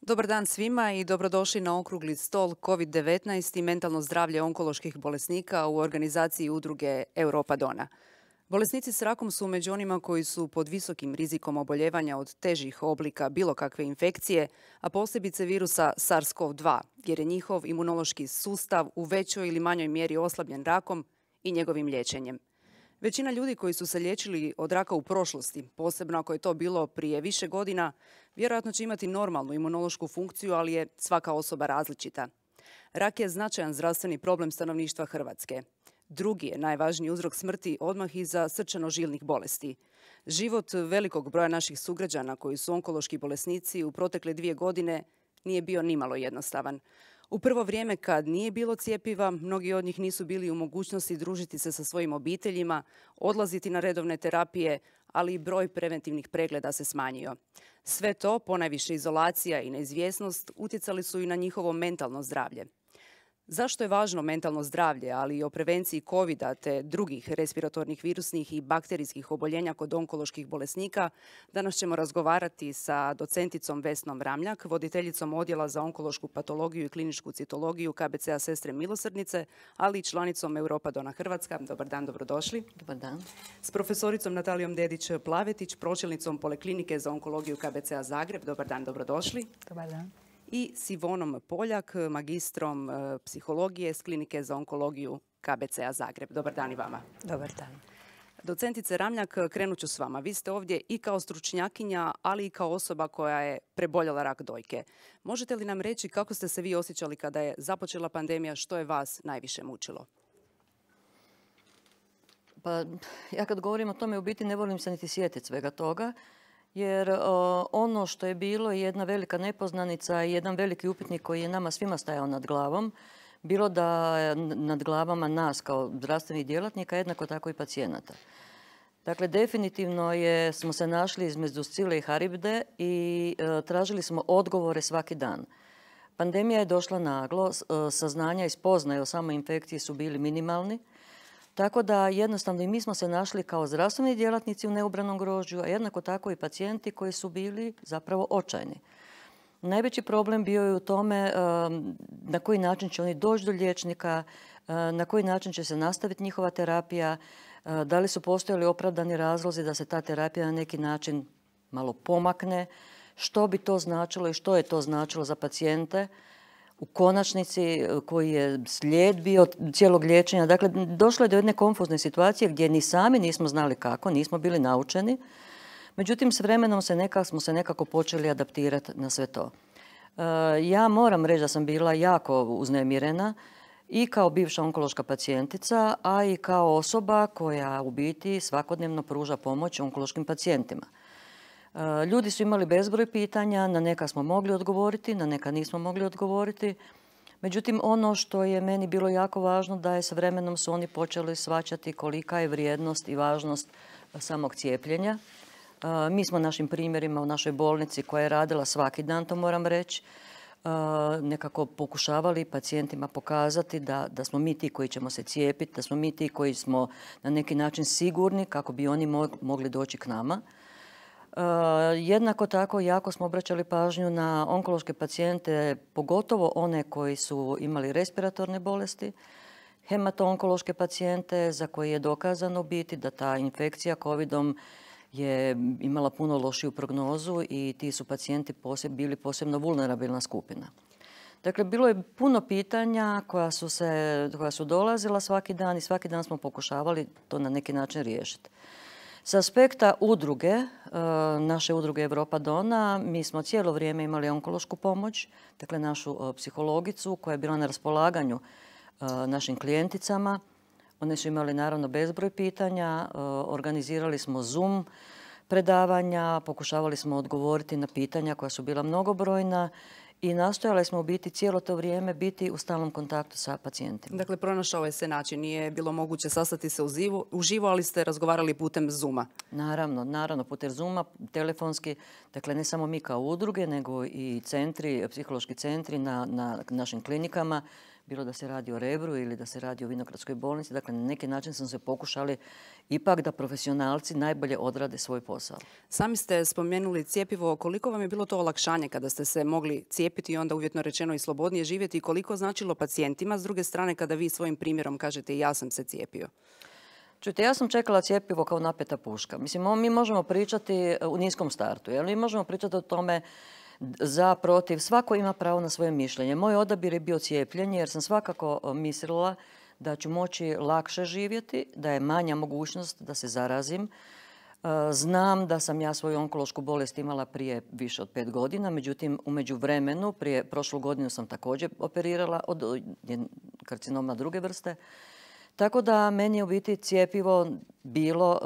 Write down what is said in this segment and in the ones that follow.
Dobar dan svima i dobrodošli na okrugli stol COVID-19 i mentalno zdravlje onkoloških bolesnika u organizaciji udruge Europa Dona. Bolesnici s rakom su među onima koji su pod visokim rizikom oboljevanja od težih oblika bilo kakve infekcije, a posebice virusa SARS-CoV-2, jer je njihov imunološki sustav u većoj ili manjoj mjeri oslabljen rakom i njegovim liječenjem. Većina ljudi koji su se liječili od raka u prošlosti, posebno ako je to bilo prije više godina, vjerojatno će imati normalnu imunološku funkciju, ali je svaka osoba različita. Rak je značajan zdravstveni problem stanovništva Hrvatske. Drugi je najvažniji uzrok smrti odmah iza srčano-žilnih bolesti. Život velikog broja naših sugrađana koji su onkološki bolesnici u protekle 2 godine nije bio nimalo jednostavan. U prvo vrijeme kad nije bilo cjepiva, mnogi od njih nisu bili u mogućnosti družiti se sa svojim obiteljima, odlaziti na redovne terapije, ali i broj preventivnih pregleda se smanjio. Sve to, ponajviše izolacija i neizvjesnost, utjecali su i na njihovo mentalno zdravlje. Zašto je važno mentalno zdravlje, ali i o prevenciji COVID-a te drugih respiratornih virusnih i bakterijskih oboljenja kod onkoloških bolesnika, danas ćemo razgovarati sa docenticom Vesnom Ramljak, voditeljicom Odjela za onkološku patologiju i kliničku citologiju KBC-a Sestre milosrdnice, ali i članicom Europa Dona Hrvatska. Dobar dan, dobrodošli. Dobar dan. S profesoricom Natalijom Dedić-Plavetić, pročelnicom Poliklinike za onkologiju KBC-a Zagreb. Dobar dan, dobrodošli. Dobar dan. I s Ivonom Poljak, magistrom psihologije s Klinike za onkologiju KBC-a Zagreb. Dobar dan i vama. Dobar dan. Docentice Ramljak, krenut ću s vama. Vi ste ovdje i kao stručnjakinja, ali i kao osoba koja je preboljela rak dojke. Možete li nam reći kako ste se vi osjećali kada je započela pandemija, što je vas najviše mučilo? Pa ja kad govorim o tome u biti ne volim se niti sjetiti svega toga, jer ono što je bilo je jedna velika nepoznanica i jedan veliki upitnik koji je nama svima stajao nad glavom, bilo da nad glavama nas kao zdravstvenih djelatnika, jednako tako i pacijenata. Dakle, definitivno smo se našli između Scile i Haribde i tražili smo odgovore svaki dan. Pandemija je došla naglo, saznanja i spoznaje o samoj infekciji su bili minimalni, tako da jednostavno i mi smo se našli kao zdravstveni djelatnici u neubranom grožđu, a jednako tako i pacijenti koji su bili zapravo očajni. Najveći problem bio je u tome na koji način će oni doći do liječnika, na koji način će se nastaviti njihova terapija, da li su postojali opravdani razlozi da se ta terapija na neki način malo pomakne, što bi to značilo i što je to značilo za pacijente. U konačnici koji je slijed bio cijelog liječenja. Dakle, došlo je do jedne konfuzne situacije gdje ni sami nismo znali kako, nismo bili naučeni. Međutim, s vremenom smo se nekako počeli adaptirati na sve to. Ja moram reći da sam bila jako uznemirena i kao bivša onkološka pacijentica, a i kao osoba koja u biti svakodnevno pruža pomoć onkološkim pacijentima. Ljudi su imali bezbroj pitanja, na neka smo mogli odgovoriti, na neka nismo mogli odgovoriti. Međutim, ono što je meni bilo jako važno da je s vremenom su oni počeli shvaćati kolika je vrijednost i važnost samog cijepljenja. Mi smo našim primjerima u našoj bolnici koja je radila svaki dan, to moram reći, nekako pokušavali pacijentima pokazati da smo mi ti koji ćemo se cijepiti, da smo mi ti koji smo na neki način sigurni kako bi oni mogli doći k nama. Jednako tako jako smo obraćali pažnju na onkološke pacijente, pogotovo one koji su imali respiratorne bolesti, hemato-onkološke pacijente za koje je dokazano biti da ta infekcija COVID-om je imala puno lošiju prognozu i ti su pacijenti bili posebno vulnerabilna skupina. Dakle, bilo je puno pitanja koja su dolazila svaki dan i svaki dan smo pokušavali to na neki način riješiti. S aspekta udruge, naše udruge Europa Dona, mi smo cijelo vrijeme imali onkološku pomoć, dakle našu psihologicu koja je bila na raspolaganju našim klijenticama. One su imali naravno bezbroj pitanja, organizirali smo Zoom predavanja, pokušavali smo odgovoriti na pitanja koja su bila mnogobrojna i nastojali smo u biti cijelo to vrijeme biti u stalnom kontaktu sa pacijentima. Dakle, pronašao je se način. Nije bilo moguće sastati se uživo, ali ste razgovarali putem Zooma. Naravno, putem Zooma, telefonski. Dakle, ne samo mi kao udruge, nego i centri, psihološki centri na našim klinikama bilo da se radi o Rebru ili da se radi o Vinogradskoj bolnici. Dakle, na neki način smo se pokušali ipak da profesionalci najbolje odrade svoj posao. Sami ste spomenuli cjepivo. Koliko vam je bilo to olakšanje kada ste se mogli cijepiti i onda uvjetno rečeno i slobodnije živjeti i koliko značilo pacijentima s druge strane kada vi svojim primjerom kažete ja sam se cijepio? Čujte, ja sam čekala cjepivo kao napeta puška. Mislim, mi možemo pričati u niskom startu. Mi možemo pričati o tome za, protiv. Svako ima pravo na svoje mišljenje. Moj odabir je bio cijepljenje jer sam svakako mislila da ću moći lakše živjeti, da je manja mogućnost da se zarazim. Znam da sam ja svoju onkološku bolest imala prije više od 5 godina, međutim u međuvremenu, prošlu godinu sam također operirala od karcinoma druge vrste. Tako da meni je u biti cijepivo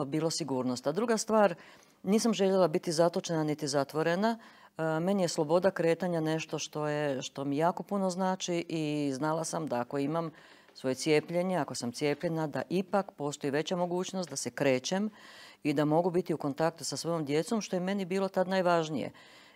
bilo sigurnost. A druga stvar, nisam željela biti zatočena niti zatvorena. Meni je sloboda kretanja nešto što mi jako puno znači i znala sam da ako imam svoje cijepljenje, ako sam cijepljena, da ipak postoji veća mogućnost da se krećem i da mogu biti u kontaktu sa svojom djecom, što je meni bilo tad najvažnije.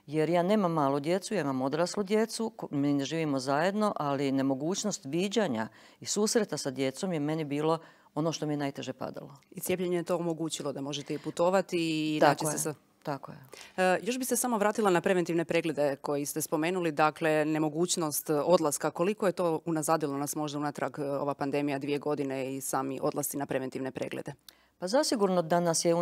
Jer ja nemam malu djecu, ja imam odraslu djecu, mi ne živimo zajedno, ali nemogućnost viđanja i susreta sa djecom je meni bilo ono što mi je najteže padalo. I cijepljenje je to omogućilo da možete i putovati i naći se sa... Tako je. Još bi se samo vratila na preventivne preglede koji ste spomenuli, dakle nemogućnost odlaska. Koliko je to unazadilo nas možda unatrag ova pandemija 2 godine i sami odlasci na preventivne preglede? Pa zasigurno da nas je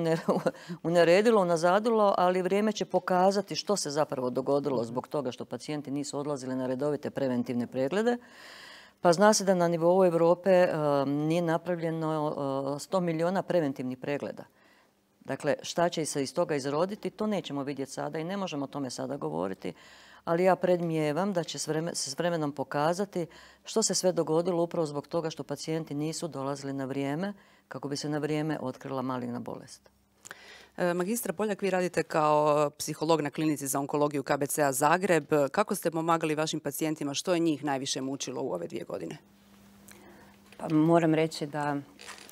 uneredilo, unazadilo, ali vrijeme će pokazati što se zapravo dogodilo zbog toga što pacijenti nisu odlazili na redovite preventivne preglede. Pa zna se da na nivou Europe nije napravljeno 100 milijuna preventivnih pregleda. Dakle, šta će se iz toga izroditi, to nećemo vidjeti sada i ne možemo o tome sada govoriti, ali ja predmnijevam da će se s vremenom pokazati što se sve dogodilo upravo zbog toga što pacijenti nisu dolazili na vrijeme kako bi se na vrijeme otkrila maligna bolest. Magistra Poljak, vi radite kao psiholog na klinici za onkologiju KBC-a Zagreb. Kako ste pomagali vašim pacijentima? Što je njih najviše mučilo u ove 2 godine? Pa moram reći da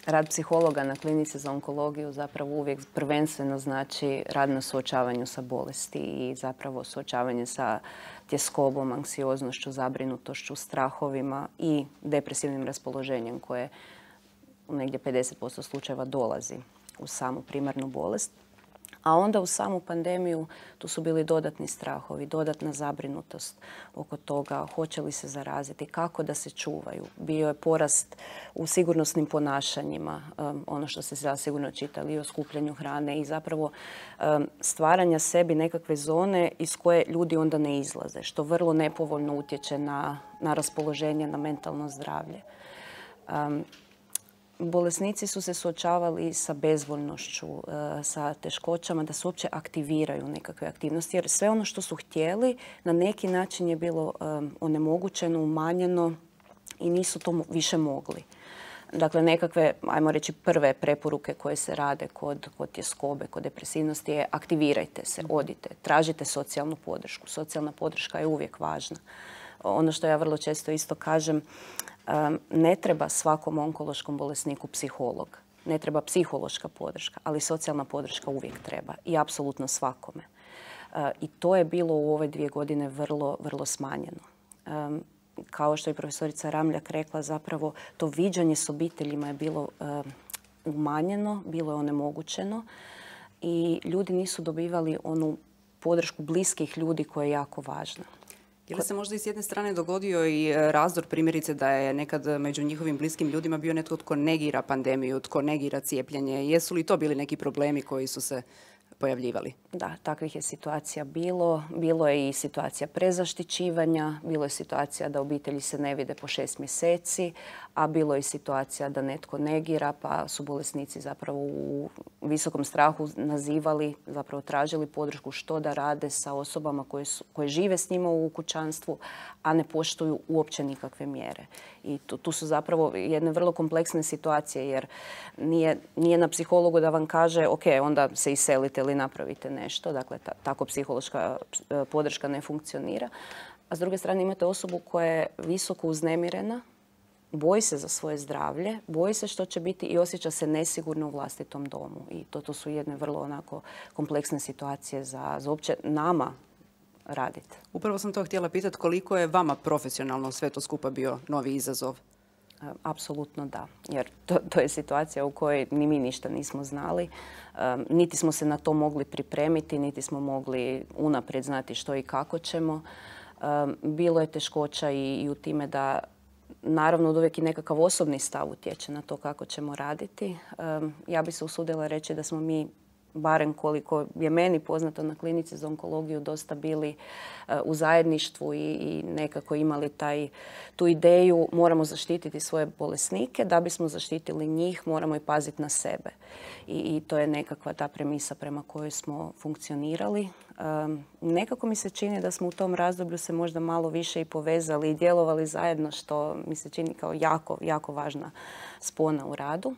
rad psihologa na klinici za onkologiju zapravo uvijek prvenstveno znači rad na suočavanju sa bolesti i zapravo suočavanje sa tjeskobom, anksioznošću, zabrinutošću, strahovima i depresivnim raspoloženjem koje u negdje 50% slučajeva dolazi u samu primarnu bolest. A onda u samu pandemiju tu su bili dodatni strahovi, dodatna zabrinutost oko toga hoće li se zaraziti, kako da se čuvaju. Bio je porast u sigurnosnim ponašanjima, ono što ste zasigurno čitali, o skupljanju hrane i zapravo stvaranja sebi nekakve zone iz koje ljudi onda ne izlaze, što vrlo nepovoljno utječe na raspoloženje, na mentalno zdravlje. Bolesnici su se suočavali sa bezvoljnošću, sa teškoćama da se uopće aktiviraju nekakve aktivnosti. Jer sve ono što su htjeli na neki način je bilo onemogućeno, umanjeno i nisu to više mogli. Dakle, nekakve, ajmo reći, prve preporuke koje se rade kod tjeskobe, kod depresivnosti je aktivirajte se, odite, tražite socijalnu podršku. Socijalna podrška je uvijek važna. Ono što ja vrlo često isto kažem, ne treba svakom onkološkom bolesniku psiholog, ne treba psihološka podrška, ali socijalna podrška uvijek treba i apsolutno svakome. I to je bilo u ove 2 godine vrlo, vrlo smanjeno. Kao što je profesorica Ramljak rekla, zapravo to viđanje s obiteljima je bilo umanjeno, bilo je onemogućeno i ljudi nisu dobivali onu podršku bliskih ljudi koja je jako važna. Je li se možda i s jedne strane dogodio i razdor, primjerice da je nekad među njihovim bliskim ljudima bio netko tko negira pandemiju, tko negira cijepljenje? Jesu li to bili neki problemi koji su se pojavljivali? Da, takvih je situacija bilo. Bilo je i situacija prezaštićivanja, bilo je situacija da obitelji se ne vide po 6 mjeseci, a bilo je i situacija da netko negira, pa su bolesnici zapravo u visokom strahu nazivali, zapravo tražili podršku što da rade sa osobama koje žive s njima u kućanstvu, a ne poštuju uopće nikakve mjere. I tu su zapravo jedne vrlo kompleksne situacije, jer nije na psihologu da vam kaže ok, onda se iselite ili napravite nešto. Dakle, tako psihološka podrška ne funkcionira. A s druge strane imate osobu koja je visoko uznemirena, boji se za svoje zdravlje, boji se što će biti i osjeća se nesigurno u vlastitom domu. I to su jedne vrlo onako kompleksne situacije za uopće nama raditi. Upravo sam to htjela pitati, koliko je vama profesionalno sve to skupa bio novi izazov? Apsolutno da, jer to je situacija u kojoj ni mi ništa nismo znali. Niti smo se na to mogli pripremiti, niti smo mogli unaprijed znati što i kako ćemo. Bilo je teškoća i u time da naravno od uvijek i nekakav osobni stav utječe na to kako ćemo raditi. Ja bi se usudila reći da smo mi, barem koliko je meni poznato na klinici za onkologiju, dosta bili u zajedništvu i nekako imali tu ideju moramo zaštititi svoje bolesnike. Da bismo zaštitili njih moramo i paziti na sebe. I to je nekakva ta premisa prema kojoj smo funkcionirali. Nekako mi se čini da smo u tom razdoblju se možda malo više i povezali i djelovali zajedno, što mi se čini kao jako, jako važna spona u radu.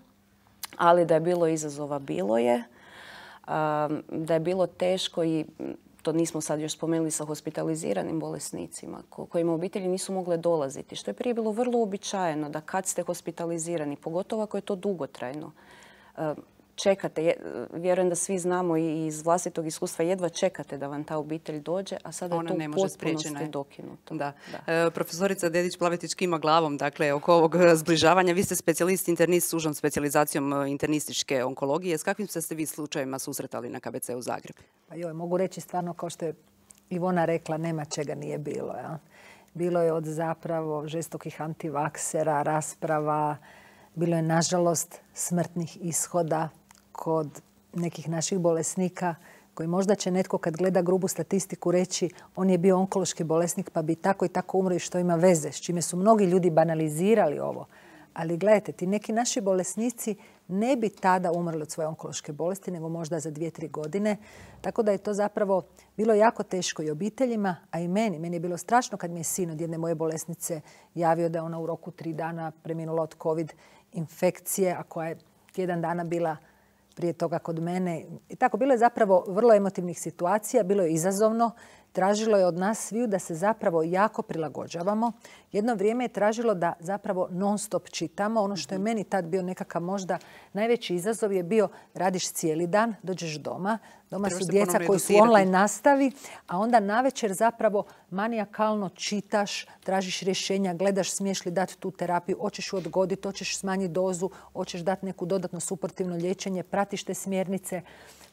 Ali da je bilo izazova, bilo je. Da je bilo teško i to nismo sad još spomenuli sa hospitaliziranim bolesnicima kojima obitelji nisu mogle dolaziti, što je prije bilo vrlo uobičajeno da kad ste hospitalizirani, pogotovo ako je to dugotrajno, čekate, vjerujem da svi znamo i iz vlastitog iskustva, jedva čekate da vam ta obitelj dođe, a sada je to u potpunosti dokinuto. Da. Profesorica Dedić-Plavetić kima glavom, dakle, oko ovog zbližavanja. Vi ste specijalist internist s užom specijalizacijom internističke onkologije. S kakvim ste se vi slučajevima susretali na KBC-u Zagreb? Pa mogu reći stvarno, kao što je Ivona rekla, nema čega nije bilo. Ja? Bilo je od zapravo žestokih antivaksera, rasprava, bilo je nažalost smrtnih ishoda kod nekih naših bolesnika koji možda će netko kad gleda grubu statistiku reći on je bio onkološki bolesnik pa bi tako i tako umro i što ima veze, s čime su mnogi ljudi banalizirali ovo. Ali gledajte, ti neki naši bolesnici ne bi tada umrli od svoje onkološke bolesti, nego možda za 2-3 godine. Tako da je to zapravo bilo jako teško i obiteljima, a i meni. Meni je bilo strašno kad mi je sin od jedne moje bolesnice javio da je ona u roku 3 dana preminula od COVID infekcije, a koja je tjedan dana bila prije toga kod mene. I tako, bilo je zapravo vrlo emotivnih situacija, bilo je izazovno. Tražilo je od nas sviju da se zapravo jako prilagođavamo. Jedno vrijeme je tražilo da zapravo non stop čitamo. Ono što je meni tad bio nekakav možda najveći izazov je bio radiš cijeli dan, dođeš doma. Doma su djeca koji su online nastavi, a onda navečer zapravo manijakalno čitaš, tražiš rješenja, gledaš smiješ li dati tu terapiju, hoćeš ju odgoditi, hoćeš smanjiti dozu, hoćeš dati neku dodatno suportivno liječenje, pratiš te smjernice.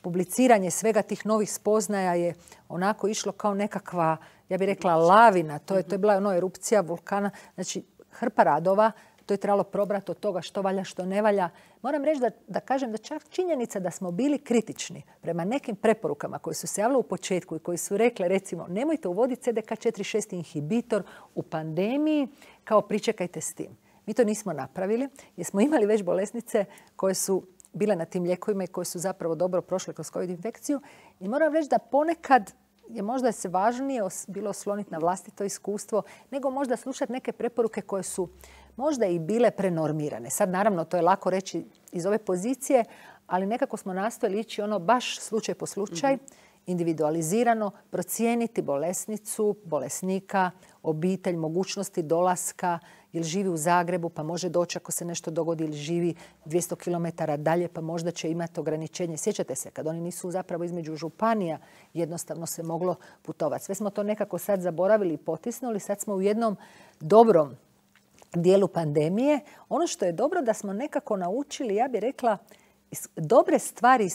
Publiciranje svega tih novih spoznaja je onako išlo kao nekakva, ja bih rekla, lavina. To je bila erupcija vulkana. Znači, hrpa radova. To je trebalo probrati od toga što valja, što ne valja. Moram reći da kažem da čak činjenica da smo bili kritični prema nekim preporukama koje su se javile u početku i koji su rekle, recimo, nemojte uvoditi CDK4/6 inhibitor u pandemiji, kao pričekajte s tim. Mi to nismo napravili jer smo imali već bolesnice koje su bile na tim lijekovima i koje su zapravo dobro prošle kroz COVID infekciju. I moram reći da ponekad je možda se važnije bilo osloniti na vlastito iskustvo nego možda slušati neke preporuke koje su možda i bile prenormirane. Sad naravno to je lako reći iz ove pozicije, ali nekako smo nastojali ići baš slučaj po slučaj, individualizirano, procijeniti bolesnicu, bolesnika, obitelj, mogućnosti dolaska, ili živi u Zagrebu pa može doći ako se nešto dogodi, ili živi 200 km dalje pa možda će imati ograničenje. Sjećate se, kad oni nisu zapravo između županija, jednostavno se moglo putovati. Sve smo to nekako sad zaboravili i potisnuli. Sad smo u jednom dobrom dijelu pandemije. Ono što je dobro da smo nekako naučili, ja bih rekla, dobre stvari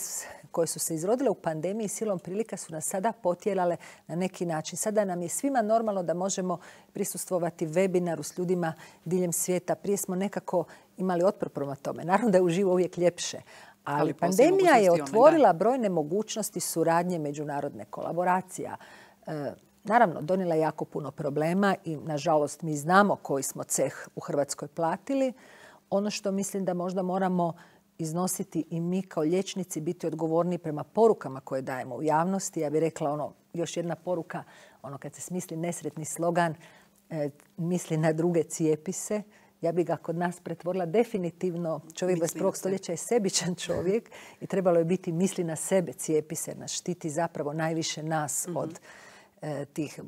koje su se izrodile u pandemiji silom prilika su nas sada potjerale na neki način. Sada nam je svima normalno da možemo prisustvovati webinaru s ljudima diljem svijeta. Prije smo nekako imali otpor prema tome. Naravno da je uživo uvijek ljepše. Ali pandemija je otvorila brojne mogućnosti suradnje, međunarodne kolaboracija. Naravno, donijela je jako puno problema i, nažalost, mi znamo koji smo ceh u Hrvatskoj platili. Ono što mislim da možda moramo iznositi i mi kao liječnici, biti odgovorni prema porukama koje dajemo u javnosti. Ja bih rekla još jedna poruka, kad se smisli nesretni slogan, misli na druge, cijepi se. Ja bih ga kod nas pretvorila definitivno. Čovjek 21. stoljeća je sebičan čovjek i trebalo je biti misli na sebe, cijepi se, nas štiti zapravo najviše nas od tih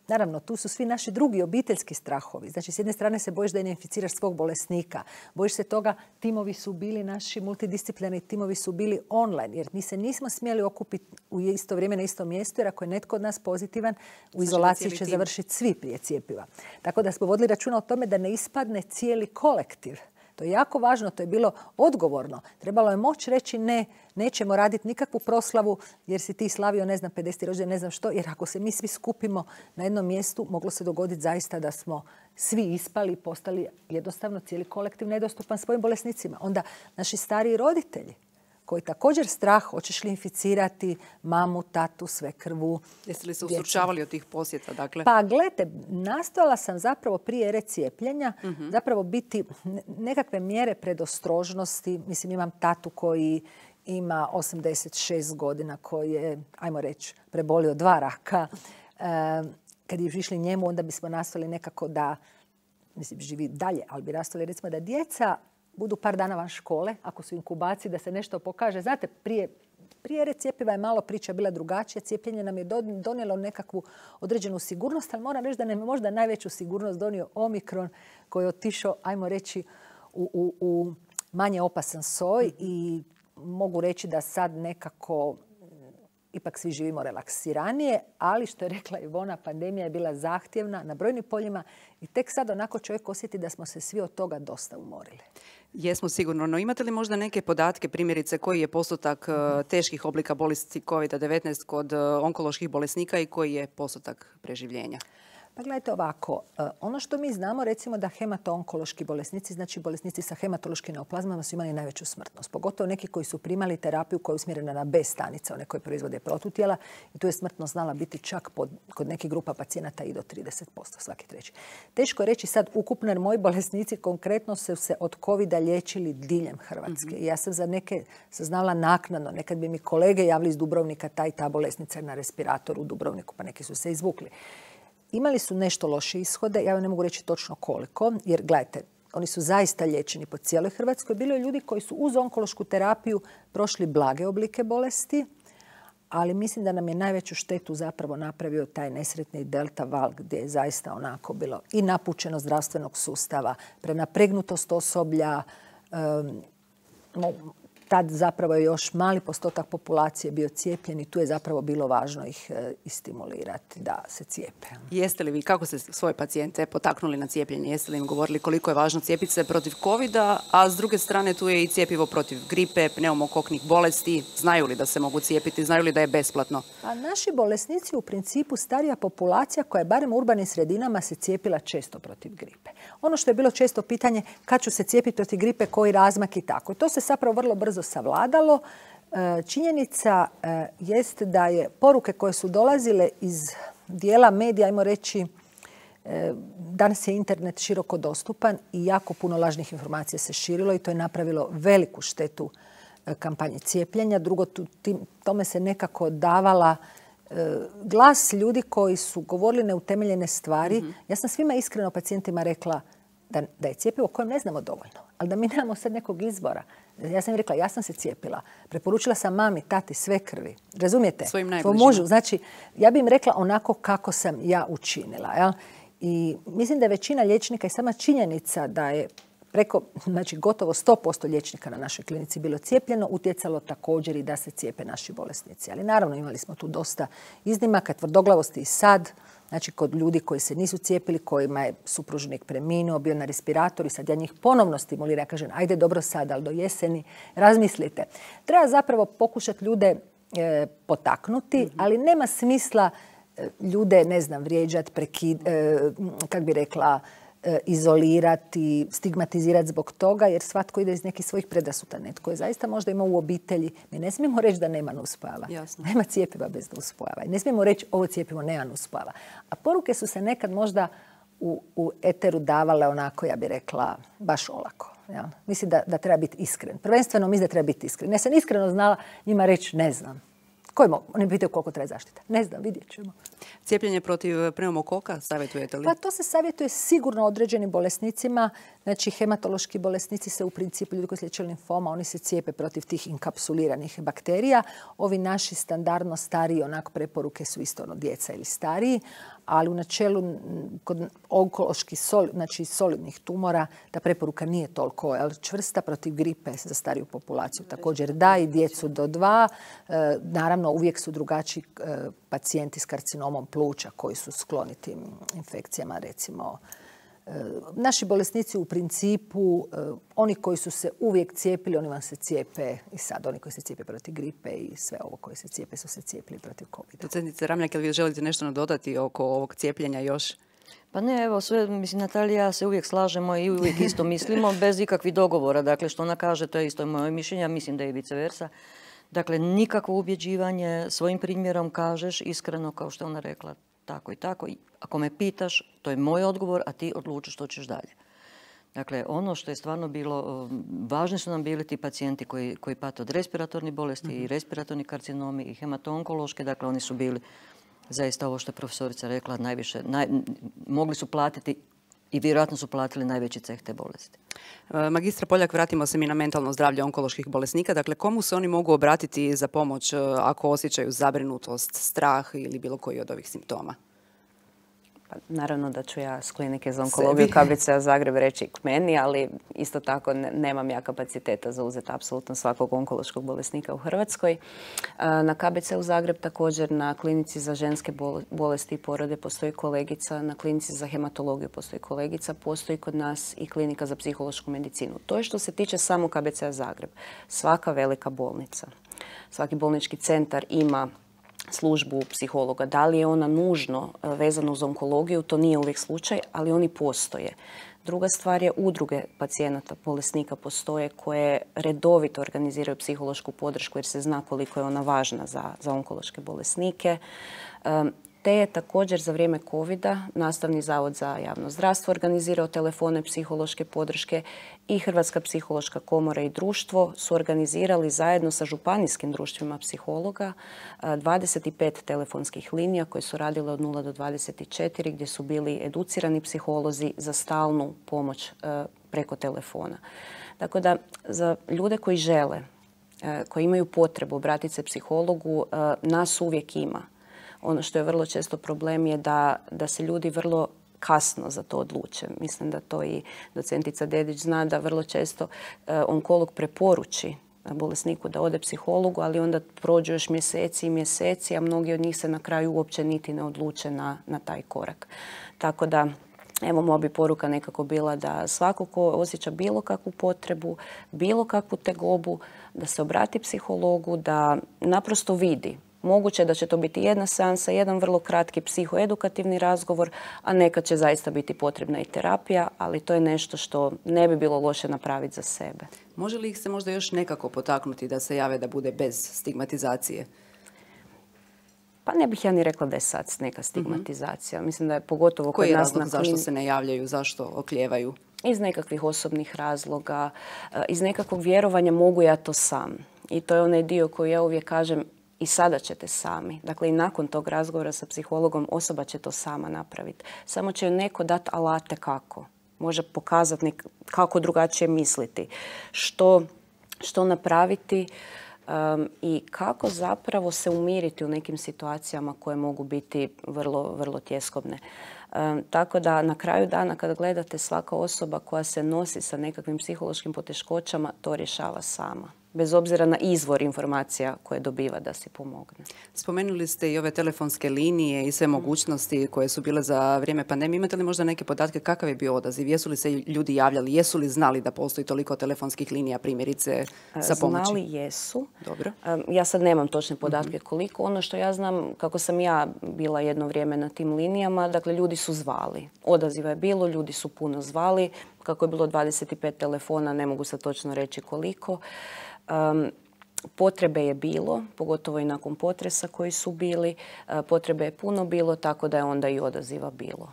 Naravno, tu su svi naši drugi obiteljski strahovi. Znači, s jedne strane se bojiš da ne inficiraš svog bolesnika. Bojiš se toga, timovi su bili, naši multidisciplinarni timovi su bili online, jer mi se nismo smjeli okupiti u isto vrijeme na istom mjestu, jer ako je netko od nas pozitivan, u izolaciji će završiti svi prije cjepiva. Tako da smo vodili računa o tome da ne ispadne cijeli kolektiv. To je jako važno, to je bilo odgovorno. Trebalo je moći reći ne, nećemo raditi nikakvu proslavu jer si ti slavio, 50. rođendan, ne znam što. Jer ako se mi svi skupimo na jednom mjestu, moglo se dogoditi zaista da smo svi ispali i postali jednostavno cijeli kolektiv nedostupan svojim bolesnicima. Onda naši stariji roditelji koji također strah, hoćeš li inficirati mamu, tatu, svekrvu. Jeste li se ustručavali od tih posjeta? Dakle? Pa gledajte, nastojala sam zapravo prije ere cijepljenja zapravo biti nekakve mjere predostrožnosti. Mislim, imam tatu koji ima 86 godina, koji je, ajmo reći, prebolio 2 raka. Kad je išli njemu, onda bismo nastojali nekako da, mislim, živi dalje, ali bi nastojali recimo da djeca budu par dana van škole, ako su inkubaciji, da se nešto pokaže. Znate, prije ere cjepiva je malo priča bila drugačija. Cijepljenje nam je donijelo nekakvu određenu sigurnost, ali moram reći da nam je možda najveću sigurnost donio Omikron koji je otišao, ajmo reći, u manje opasan soj i mogu reći da sad nekako ipak svi živimo relaksiranije, ali što je rekla Ivona, pandemija je bila zahtjevna na brojnim poljima i tek sad onako čovjek osjeti da smo se svi od toga dosta umorili. Jesmo sigurno, no imate li možda neke podatke, primjerice koji je postotak teških oblika bolesti COVID-19 kod onkoloških bolesnika i koji je postotak preživljenja? Pa gledajte ovako, ono što mi znamo, recimo da hemato-onkološki bolesnici, znači bolesnici sa hematološkim neoplazmama su imali najveću smrtnost. Pogotovo neki koji su primali terapiju koja je usmjerena na B stanice, one koje proizvode protutijela. I tu je smrtnost znala biti čak kod nekih grupa pacijenata i do 30%, svaki treći. Teško je reći sad ukupno, jer moji bolesnici konkretno su se od covida liječili diljem Hrvatske. I ja sam za neke saznala naknadno. Nekad bi mi kolege javili iz Dubrovnika, ta i ta bolesnica je na respiratoru u Dubrovniku, pa neki su se izvukli. Imali su nešto loše ishode, ja vam ne mogu reći točno koliko, jer gledajte, oni su zaista liječeni po cijeloj Hrvatskoj. Bilo je ljudi koji su uz onkološku terapiju prošli blage oblike bolesti, ali mislim da nam je najveću štetu zapravo napravio taj nesretni delta val gdje je zaista onako bilo i napučeno zdravstvenog sustava, prenapregnutost osoblja. Tad zapravo je još mali postotak populacije bio cijepljen i tu je zapravo bilo važno ih istimulirati da se cijepe. Jeste li vi, kako ste svoje pacijente potaknuli na cijepljenje? Jeste li im govorili koliko je važno cijepiti se protiv covida, a s druge strane tu je i cjepivo protiv gripe, pneumokoknih bolesti. Znaju li da se mogu cijepiti? Znaju li da je besplatno? A naši bolesnici u principu starija populacija koja je barem u urbanim sredinama se cijepila često protiv gripe. Ono što je bilo često pitanje kad ću se cijepiti protiv gripe, koji razmak i tako. To se zapravo vrlo brzo savladalo. Činjenica jest da je poruke koje su dolazile iz dijela medija, ajmo reći, danas je internet široko dostupan i jako puno lažnih informacija se širilo i to je napravilo veliku štetu kampanje cijepljenja. Drugo, tome se nekako davala glas ljudi koji su govorili neutemeljene stvari. Ja sam svima iskreno pacijentima rekla da je cjepivo kojem ne znamo dovoljno, ali da mi nemamo sad nekog izbora. Ja sam im rekla, ja sam se cijepila. Preporučila sam mami, tati, svekrvi. Razumijete? Svojim najbližima. Svom mužu. Znači, ja bi im rekla onako kako sam ja učinila. Ja? I mislim da je većina liječnika i sama činjenica da je preko, znači gotovo 100% liječnika na našoj klinici bilo cijepljeno, utjecalo također i da se cijepe naši bolesnici. Ali naravno imali smo tu dosta iznimaka, tvrdoglavosti i sad. Znači, kod ljudi koji se nisu cijepili, kojima je supružnik preminuo, bio na respiratoru i sad ja njih ponovno stimuliram. Ja kažem, ajde dobro sad, ali do jeseni razmislite. Treba zapravo pokušati ljude potaknuti, ali nema smisla ljude, ne znam, vrijeđati, kak bi rekla, izolirati, stigmatizirati zbog toga, jer svatko ide iz nekih svojih predrasuda. Netko je zaista možda imao u obitelji. Mi ne smijemo reći da nema nuspojava. Nema cjepiva bez nuspojava. Ne smijemo reći ovo cjepivo nema nuspojava. A poruke su se nekad možda u eteru davale onako, ja bih rekla, baš olako. Ja? Mislim da treba biti iskren. Prvenstveno mislim da treba biti iskren. Ja sam iskreno znala njima reći ne znam. Oni pitaju koliko traje zaštita. Ne znam, vidjet ćemo. Cijepljenje protiv pneumokoka savjetujete li? Pa to se savjetuje sigurno određenim bolesnicima. Znači, hematološki bolesnici se u principu, ljudi koji se liječe limfoma, oni se cijepe protiv tih inkapsuliranih bakterija. Ovi naši standardno stariji, onako preporuke su isto djeca ili stariji, ali u načelu kod onkoloških znači solidnih tumora ta preporuka nije toliko čvrsta. Protiv gripe za stariju populaciju također da, i djecu do 2. Naravno, uvijek su drugačiji pacijenti s karcinomom pluća koji su skloni tim infekcijama, recimo. Naši bolesnici u principu, oni koji su se uvijek cijepili, oni vam se cijepe i sad. Oni koji se cijepe protiv gripe i sve ovo koji se cijepe su se cijepili protiv COVID-a. Docentice Ramljak, jel vi želite nešto nadodati oko ovog cijepljenja još? Pa ne, evo sve, mislim, Natalija i ja se uvijek slažemo i uvijek isto mislimo, bez ikakvih dogovora. Dakle, što ona kaže, to je isto moje mišljenje, mislim da je i vice versa. Dakle, nikakvo ubjeđivanje, svojim primjerom kažeš iskreno, kao što je ona rekla, tako i tako. Ako me pitaš, to je moj odgovor, a ti odlučiš što ćeš dalje. Dakle, ono što je stvarno bilo, važni su nam bili ti pacijenti koji pate od respiratornih bolesti i respiratorni karcinomi i hematonkološke. Dakle, oni su bili zaista ovo što je profesorica rekla, mogli su platiti i vjerojatno su platili najveći ceh te bolesti. Magistra Poljak, vratimo se mi na mentalno zdravlje onkoloških bolesnika. Dakle, komu se oni mogu obratiti za pomoć ako osjećaju zabrinutost, strah ili bilo koji od ovih simptoma? Naravno da ću ja s klinike za onkologiju KBC-a Zagreb reći k meni, ali isto tako nemam ja kapaciteta za uzeti apsolutno svakog onkološkog bolesnika u Hrvatskoj. Na KBC-u Zagreb također na klinici za ženske bolesti i porode postoji kolegica, na klinici za hematologiju postoji kolegica, postoji kod nas i klinika za psihološku medicinu. To je što se tiče samo KBC-a Zagreb. Svaka velika bolnica, svaki bolnički centar ima službu psihologa. Da li je ona nužno vezana uz onkologiju, to nije uvijek slučaj, ali oni postoje. Druga stvar je udruge pacijenata, bolesnika postoje koje redovito organiziraju psihološku podršku jer se zna koliko je ona važna za onkološke bolesnike. Te je također za vrijeme COVID-a Nastavni zavod za javno zdravstvo organizirao telefone psihološke podrške i Hrvatska psihološka komora i društvo su organizirali zajedno sa županijskim društvima psihologa 25 telefonskih linija koje su radile od 0 do 24 gdje su bili educirani psiholozi za stalnu pomoć preko telefona. Tako da za ljude koji žele, koji imaju potrebu obratiti se psihologu, nas uvijek ima. Ono što je vrlo često problem je da se ljudi vrlo kasno za to odluče. Mislim da to i docentica Dedić zna da vrlo često onkolog preporuči bolesniku da ode psihologu, ali onda prođu još mjeseci i mjeseci, a mnogi od njih se na kraju uopće niti ne odluče na taj korak. Tako da, evo, moja bi poruka nekako bila da svako ko osjeća bilo kakvu potrebu, bilo kakvu tegobu, da se obrati psihologu, da naprosto vidi. Moguće da će to biti jedna seansa, jedan vrlo kratki psihoedukativni razgovor, a nekad će zaista biti potrebna i terapija, ali to je nešto što ne bi bilo loše napraviti za sebe. Može li ih se možda još nekako potaknuti da se jave da bude bez stigmatizacije? Pa ne bih ja ni rekla da je sad neka stigmatizacija. Mislim da je pogotovo kod nas na Koji je razlog zašto se ne javljaju, zašto oklijevaju? Iz nekakvih osobnih razloga, iz nekakvog vjerovanja mogu ja to sam. I to je onaj dio koji ja uvijek kažem, i sada ćete sami. Dakle, i nakon tog razgovora sa psihologom osoba će to sama napraviti. Samo će joj neko dati alate kako. Može pokazati kako drugačije misliti. Što napraviti i kako zapravo se umiriti u nekim situacijama koje mogu biti vrlo, vrlo tjeskobne. Tako da na kraju dana kad gledate, svaka osoba koja se nosi sa nekakvim psihološkim poteškoćama to rješava sama. Bez obzira na izvor informacija koje dobiva da si pomogne. Spomenuli ste i ove telefonske linije i sve mogućnosti koje su bile za vrijeme pandemije. Imate li možda neke podatke kakav je bio odaziv? Jesu li se ljudi javljali? Jesu li znali da postoji toliko telefonskih linija, primjerice, za pomoći? Znali jesu. Dobro. Ja sad nemam točne podatke koliko. Ono što ja znam, kako sam ja bila jedno vrijeme na tim linijama, dakle ljudi su zvali. Odaziva je bilo, ljudi su puno zvali. Kako je bilo 25 telefona, ne mogu sad točno reći koliko. Potrebe je bilo, pogotovo i nakon potresa koji su bili. Potrebe je puno bilo, tako da je onda i odaziva bilo.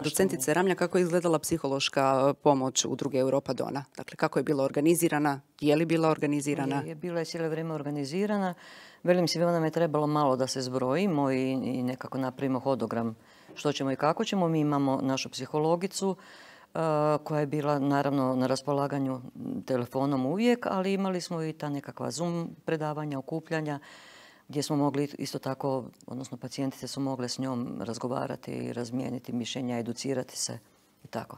Docentice Ramlja, kako je izgledala psihološka pomoć udruge Europa Dona? Dakle, kako je bila organizirana? Je li bila organizirana? Je bila je cijelo vrijeme organizirana. Velim si, nam je trebalo malo da se zbrojimo i nekako napravimo hodogram što ćemo i kako ćemo. Mi imamo našu psihologicu, koja je bila naravno na raspolaganju telefonom uvijek, ali imali smo i ta nekakva Zoom predavanja, okupljanja, gdje smo mogli isto tako, odnosno pacijentice su mogle s njom razgovarati, razmijeniti mišljenja, educirati se i tako.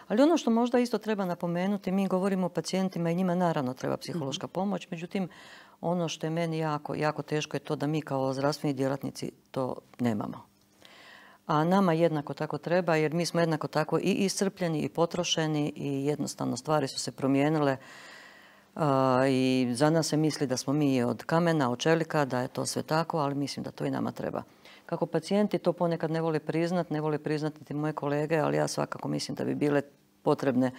Ali ono što možda isto treba napomenuti, mi govorimo o pacijentima i njima naravno treba psihološka pomoć, međutim ono što je meni jako teško je to da mi kao zdravstveni djelatnici to nemamo. A nama jednako tako treba, jer mi smo jednako tako i iscrpljeni i potrošeni i jednostavno stvari su se promijenile i za nas se misli da smo mi od kamena, od čelika, da je to sve tako, ali mislim da to i nama treba. Kako pacijenti to ponekad ne vole priznati niti moje kolege, ali ja svakako mislim da bi bile potrebne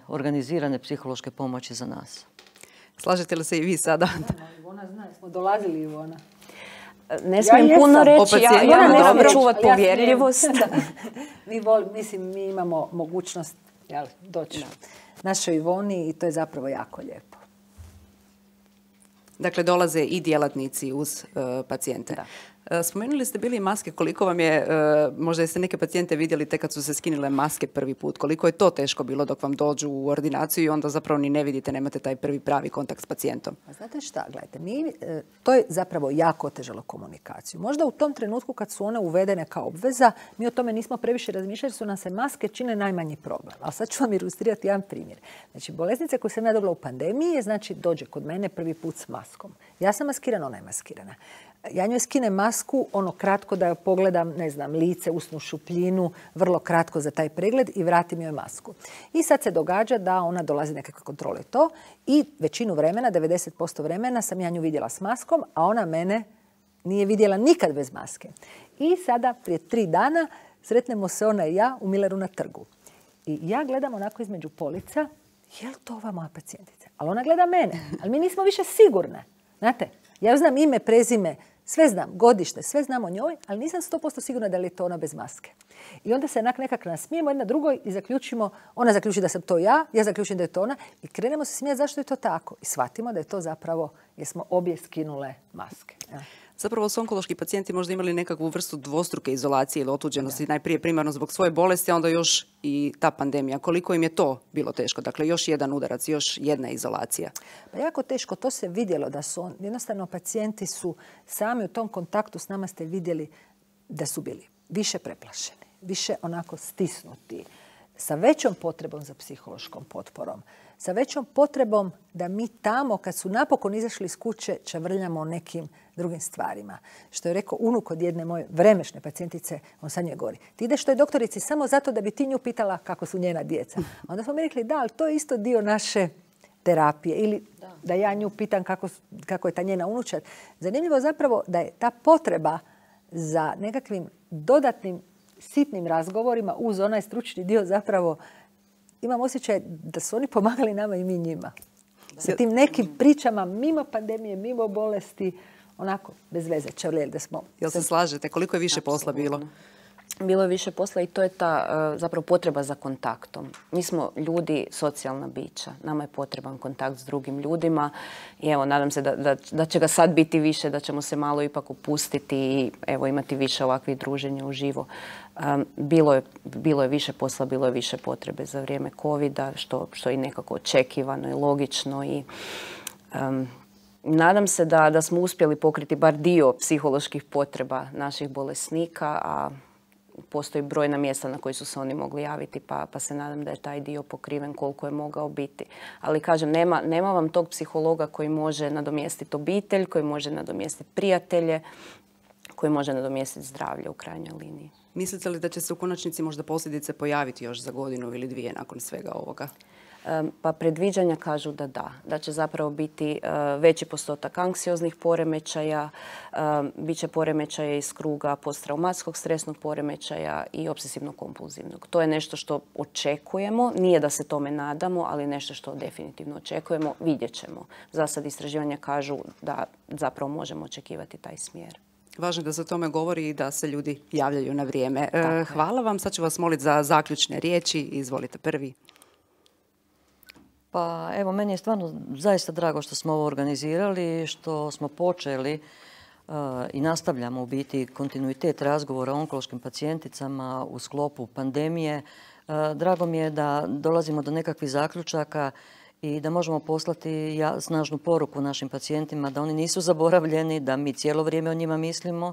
organizirane psihološke pomoći za nas. Slažete li se i vi sada? Ivona zna, smo dolazili Ivona. Ne smijem puno reći, ja ne moram čuvati povjerljivost. Mi imamo mogućnost doći našoj Ivoni i to je zapravo jako lijepo. Dakle, dolaze i djelatnici uz pacijente. Da. Spomenuli ste bili maske, koliko vam je, možda jeste neke pacijente vidjeli tek kad su se skinile maske prvi put, koliko je to teško bilo dok vam dođu u ordinaciju i onda zapravo ni ne vidite, nemate taj prvi pravi kontakt s pacijentom? A znate šta, gledajte, to je zapravo jako otežalo komunikaciju. Možda u tom trenutku kad su one uvedene kao obveza, mi o tome nismo previše razmišljali, su nam se maske čine najmanji problem. Ali sad ću vam ilustrirati jedan primjer. Znači, bolesnica koju sam ja dobila u pandemiji je, znači, dođe kod mene prvi put s maskom. Ja sam maskirana, ona je maskirana. Ja njoj skinem masku, kratko da joj pogledam, lice, usnu šupljinu, vrlo kratko za taj pregled i vratim joj masku. I sad se događa da ona dolazi nekakve kontrole to i većinu vremena, 90% vremena sam ja nju vidjela s maskom, a ona mene nije vidjela nikad bez maske. I sada, prije 3 dana, sretnemo se ona i ja u Milleru na trgu. I ja gledam onako između polica, je li to ova moja pacijentica? Ali ona gleda mene, ali mi nismo više sigurne. Znate, ja znam ime, prezime, sve znam, godište, sve znam o njoj, ali nisam 100% sigurna da li je to ona bez maske. I onda se nekako nasmijemo jedna drugoj i zaključimo, ona zaključi da sam to ja zaključim da je to ona i krenemo se smijati zašto je to tako. I shvatimo da je to zapravo jer smo obje skinule maske. Ja. Zapravo su onkološki pacijenti možda imali nekakvu vrstu dvostruke izolacije ili otuđenosti, najprije primarno zbog svoje bolesti, a onda još i ta pandemija. Koliko im je to bilo teško? Dakle, još jedan udarac, još jedna izolacija. Pa jako teško, to se vidjelo da su jednostavno pacijenti su sami u tom kontaktu s nama ste vidjeli da su bili više preplašeni, više onako stisnuti, sa većom potrebom za psihološkom potporom, sa većom potrebom da mi tamo, kad su napokon izašli iz kuće, čavrljamo o nekim drugim stvarima. Što je rekao unuk od jedne moje vremešne pacijentice, on sad njoj govori. Ti ideš toj doktorici samo zato da bi ti nju pitala kako su njena djeca. Onda smo mi rekli, da, ali to je isto dio naše terapije. Ili da ja nju pitam kako je ta njena unučad. Zanimljivo zapravo da je ta potreba za nekakvim dodatnim sitnim razgovorima uz onaj stručni dio zapravo imam osjećaj da su oni pomagali nama i mi njima. Sa tim nekim pričama mimo pandemije, mimo bolesti, onako, bez veze, čavljeli da smo... Jel se slažete? Koliko je više posla bilo? Bilo je više posla i to je ta zapravo potreba za kontaktom. Mi smo ljudi, socijalna bića. Nama je potreban kontakt s drugim ljudima i evo, nadam se da će ga sad biti više, da ćemo se malo ipak opustiti i evo, imati više ovakvih druženja uživo. Bilo je više posla, bilo je više potrebe za vrijeme covida, što je nekako očekivano i logično i nadam se da smo uspjeli pokriti bar dio psiholoških potreba naših bolesnika, a postoji brojna mjesta na koji su se oni mogli javiti, pa se nadam da je taj dio pokriven koliko je mogao biti. Ali kažem, nema vam tog psihologa koji može nadomjestiti obitelj, koji može nadomjestiti prijatelje, koji može nadomjestiti zdravlje u krajnjoj liniji. Mislite li da će se u konačnici možda posljedice pojaviti još za 1 ili 2 nakon svega ovoga? Pa predviđanja kažu da će zapravo biti veći postotak anksioznih poremećaja, bit će poremećaja iz kruga posttraumatskog stresnog poremećaja i obsesivno-kompulzivnog. To je nešto što očekujemo, nije da se tome nadamo, ali nešto što definitivno očekujemo, vidjet ćemo. Za sad istraživanja kažu da zapravo možemo očekivati taj smjer. Važno je da se o tome govori i da se ljudi javljaju na vrijeme. Hvala vam. Sad ću vas moliti za zaključne riječi. Izvolite prvi. Pa evo, meni je stvarno zaista drago što smo ovo organizirali, što smo počeli i nastavljamo u biti kontinuitet razgovora o onkološkim pacijenticama u sklopu pandemije Drago mi je da dolazimo do nekakvih zaključaka i da možemo poslati snažnu poruku našim pacijentima da oni nisu zaboravljeni, da mi cijelo vrijeme o njima mislimo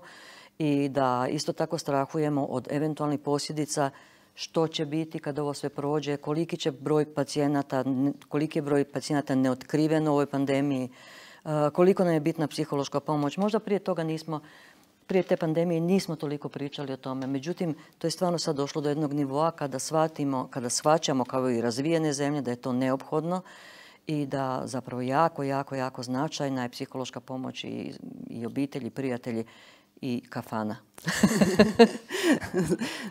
i da isto tako strahujemo od eventualnih posljedica što će biti kad ovo sve prođe, koliki je broj pacijenata neotkriven u ovoj pandemiji, koliko nam je bitna psihološka pomoć. Možda prije te pandemije nismo toliko pričali o tome. Međutim, to je stvarno sad došlo do jednog nivoa kada shvaćamo kao i razvijene zemlje da je to neophodno i da zapravo jako značajna je psihološka pomoć i obitelji, prijatelji i kafana.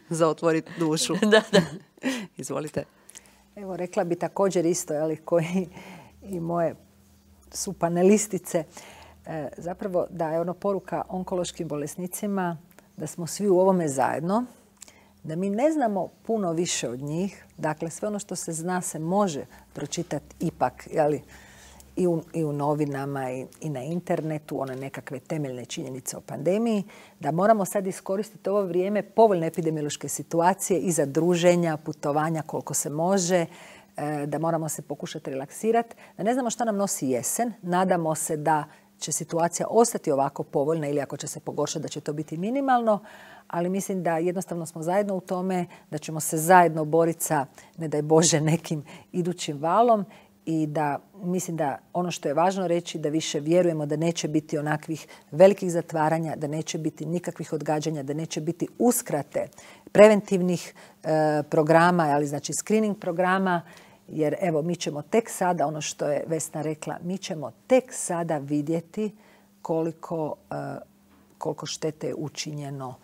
Za otvoriti dušu. Da. Izvolite. Evo, rekla bi također isto, koji i moje su panelistice, zapravo da je poruka onkološkim bolesnicima da smo svi u ovome zajedno, da mi ne znamo puno više od njih. Dakle, sve ono što se zna se može pročitati ipak i u novinama i na internetu, one nekakve temeljne činjenice o pandemiji, da moramo sad iskoristiti ovo vrijeme povoljne epidemiološke situacije i za druženja, putovanja koliko se može, da moramo se pokušati relaksirati, da ne znamo šta nam nosi jesen. Nadamo se da će situacija ostati ovako povoljna ili ako će se pogoršati da će to biti minimalno, ali mislim da jednostavno smo zajedno u tome, da ćemo se zajedno boriti sa, ne daj Bože, nekim idućim valom i da mislim da ono što je važno reći da više vjerujemo da neće biti onakvih velikih zatvaranja, da neće biti nikakvih odgađanja, da neće biti uskrate preventivnih programa, ali znači screening programa, jer evo mi ćemo tek sada, ono što je Vesna rekla, mi ćemo tek sada vidjeti koliko štete je učinjeno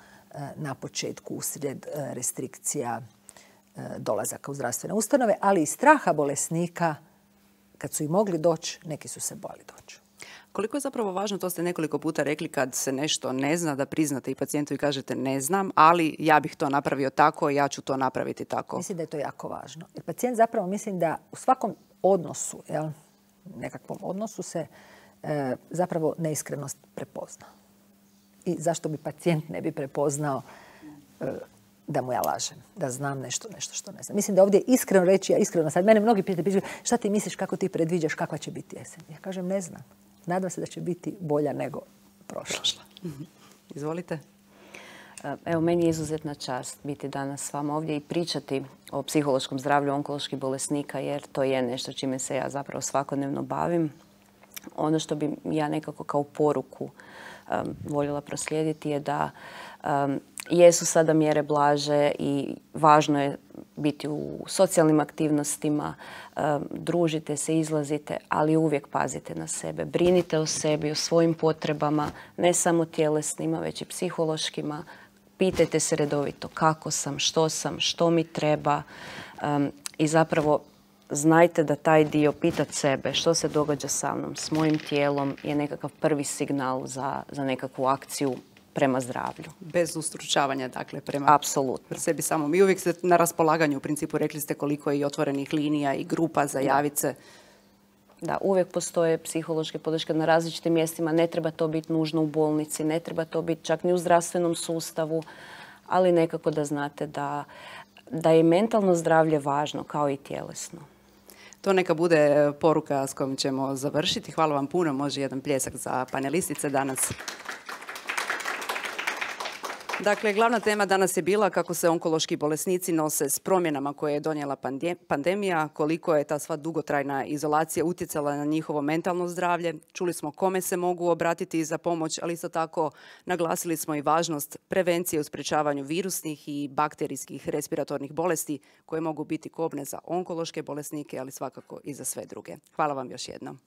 na početku usred restrikcija dolazaka u zdravstvene ustanove, ali i straha bolesnika. Kad su i mogli doći, neki su se bojali doći. Koliko je zapravo važno, to ste nekoliko puta rekli, kad se nešto ne zna, da priznate i pacijentu i kažete ne znam, ali ja bih to napravio tako i ja ću to napraviti tako. Mislim da je to jako važno. Jer pacijent zapravo mislim da u svakom odnosu, nekakvom odnosu se zapravo neiskrenost prepozna. I zašto bi pacijent ne bi prepoznao da mu ja lažem, da znam nešto što ne znam. Mislim da ovdje iskreno reći, ja iskreno sad, mene mnogi pitaju šta ti misliš, kako ti predviđaš, kakva će biti jesen. Ja kažem ne znam. Nadam se da će biti bolja nego prošla. Izvolite. Evo, meni je izuzetna čast biti danas s vama ovdje i pričati o psihološkom zdravlju onkoloških bolesnika, jer to je nešto čime se ja zapravo svakodnevno bavim. Ono što bi ja nekako kao poruku voljela proslijediti je da jesu sada mjere blaže i važno je biti u socijalnim aktivnostima, družite se, izlazite, ali uvijek pazite na sebe. Brinite o sebi, o svojim potrebama, ne samo tjelesnima, već i psihološkima. Pitajte se redovito kako sam, što mi treba i zapravo znajte da taj dio pitat sebe što se događa sa mnom, s mojim tijelom je nekakav prvi signal za nekakvu akciju prema zdravlju. Bez ustručavanja, dakle, prema apsolutno sebi samom. I uvijek ste na raspolaganju, u principu rekli ste koliko je i otvorenih linija i grupa za javice. Da, uvijek postoje psihološke podrške na različitim mjestima. Ne treba to biti nužno u bolnici, ne treba to biti čak ni u zdravstvenom sustavu, ali nekako da znate da je mentalno zdravlje važno kao i tjelesno. To neka bude poruka s kojom ćemo završiti. Hvala vam puno. Može jedan pljesak za panelistice danas. Dakle, glavna tema danas je bila kako se onkološki bolesnici nose s promjenama koje je donijela pandemija, koliko je ta sva dugotrajna izolacija utjecala na njihovo mentalno zdravlje. Čuli smo kome se mogu obratiti za pomoć, ali isto tako naglasili smo i važnost prevencije u sprječavanju virusnih i bakterijskih respiratornih bolesti koje mogu biti kobne za onkološke bolesnike, ali svakako i za sve druge. Hvala vam još jednom.